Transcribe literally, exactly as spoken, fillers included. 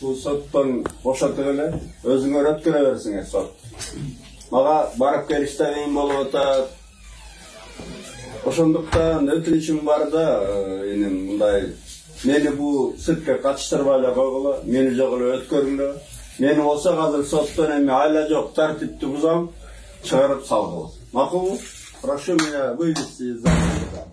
бул соттон бошотуп эле өзүңөр өткөрө берсиңер сот. Мага барып келиште кыйын болуп атат. Ошондуктан өтүнүчүм бар да, энем мындай мени бул сүткө катыштырбай эле койгула, мени жок эле өткөрүңлөр. Мени болсо азыр соттон эми айла жок тартипти бузам, чыгарып салгыла. Макулбу? Прошу меня вывести из зала.